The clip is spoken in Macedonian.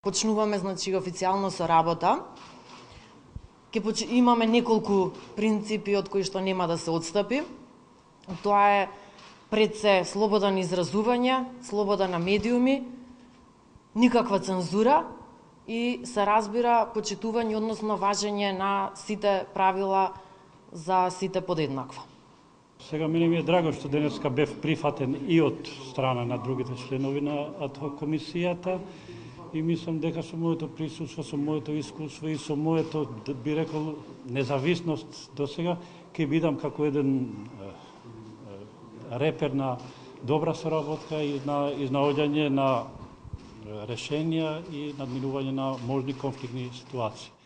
Почнуваме официјално со работа. Имаме неколку принципи од кои што нема да се отстапи. Тоа е пред се слобода на изразување, слобода на медиуми, никаква цензура и се разбира почитување, односно важење на сите правила за сите подеднакво. Сега мене ми е драго што денеска бев прифатен и од страна на другите членови на ад-хок комисијата и мислам дека со моето присуство, со моето искуство и со моето, би рекол, независност до сега, ќе бидам како еден репер на добра соработка и на изнаоѓање на решенија и надминување на можни конфликтни ситуации.